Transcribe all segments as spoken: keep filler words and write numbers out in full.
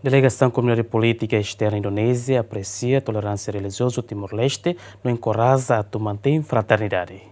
Delegasaun Komunidade Polítika Esterna Indonézia apresia toleránsia relijiozu Timor-Leste no enkoraja atu mantein fraternidade.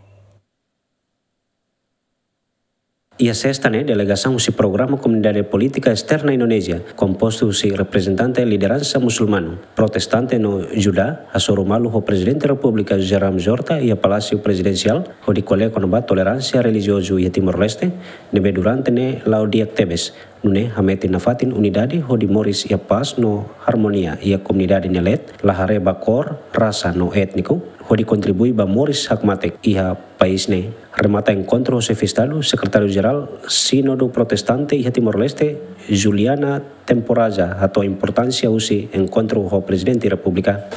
Iha sesta ne'e, delegasaun husi Programa Komunidade Polítika Esterna Indonézia, kompostu husi reprezentante lideransa musulmanu, protestante no judá, hasoru malu ho Prezidente Repúblika José Ramos Horta iha Palásiu Prezidensiál, hodi ko'alia kona-ba toleránsia relijiozu iha Timor-Leste, ne'ebé durante ne'e la'o di'ak tebes, nune'e hametin nafatin unidade hodi moris iha pás no armonia iha komunidade nia leet, la haree ba kór, rasa no étniku, hodi kontribui ba moris hakmatek iha país ne'e. Remata enkontru ho Xefe Estadu, Sekretáriu Jerál Sínodu Protestante iha Timor-Leste, Juliana Temporaza, hato'o importánsia husi enkontru ho Prezidente Repúblika.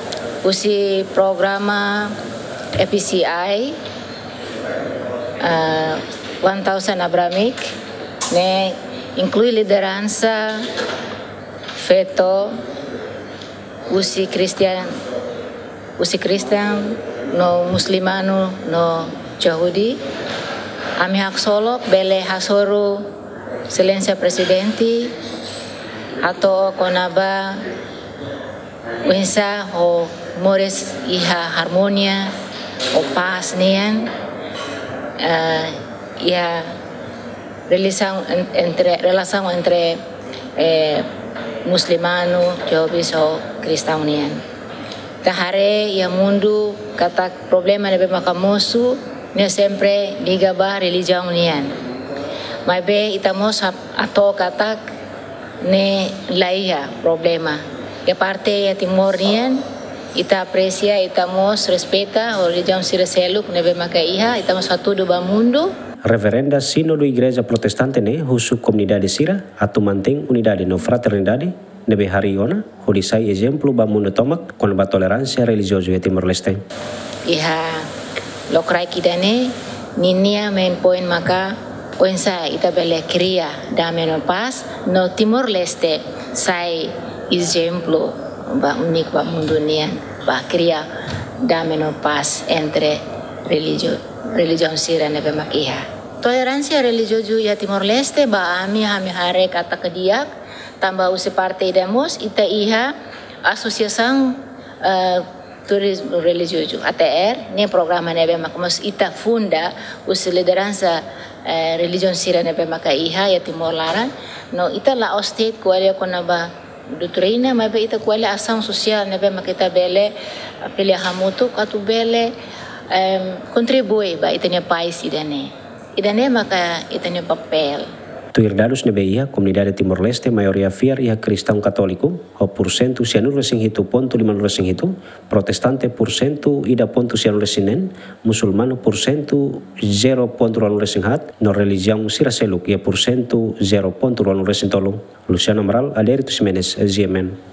Husi programa F C I, ah, One Thousand Abrahamic, ne'e inklui lideransa, feto, husi Kristian, husi Kristian no musulmanu no Yahudi. Ami haksolok bele hasoru Exelénsia Prezidente hato'o kona-ba oinsá hodi moris iha armonia, ho pás nian, eh, iha relasaun en-, entre, relasaun entre, eh, musulmanu, jovens ho kristaun nian. Ita haree iha mundu katak problema ne'ebé maka mosu ne'e sempre liga ba relijiaun nian. Maibé ita mós hato'o katak ne'e la iha problema. Iha parte iha Timor nian, ita apresia, ita mós respeita relijiaun sira seluk ne'ebé maka iha, ita mós hatudu ba mundu. Reverenda Sínodu Igreja Protestante ne'e husu komunidade sira atu mantein unidade no fraternidade ne'ebé harii ona, hodi sai ezemplu ba mundu tomak kona-ba toleránsia relijiozu iha Timor-Leste. Iha lokraik ida-ne'e, ninia main point maka oinsá ita bele kria dame no pás, no Timor-Leste sai ezemplu ba úniku ba mundu nian, ba kria dame no pás entre relijio-, relijiaun sira ne'ebé mak iha. Toleránsia relijiozu iha Timor-Leste ba ami, ami haree katak di'ak, tanba husi parte ida mós ita iha asosiasaun, eh, turizmu relijiozu, A T R, ne'e programa ne'ebé mak mós ita funda husi lideransa, eh, relijiaun sira ne'ebé maka iha iha Timor laran. No ita la'ós de'it ko'alia kona-ba doutrina, maibé ita ko'alia asaun sosiál ne'ebé mak ita bele, eh, ko'alia hamutuk atu bele, em, kontribui ba ita-nia país ida-ne'e. Ida-ne'e maka ita-nia papél. Tuir dadus ne'ebé iha, komunidade Timor-Leste maioria fiar iha kristaun katóliku, ho pursentu sianulu-resin-hitu pontu limanulu-resin-hitu, protestante pursentu ida pontu sianulu-resin-neen, musulmanu pursentu zero pontu ruanulu-resin-haat, no relijiaun sira seluk iha pursentu zero pontu ruanulu-resin-tolu. Luciano Amaral, Adérito Ximenes, G M N.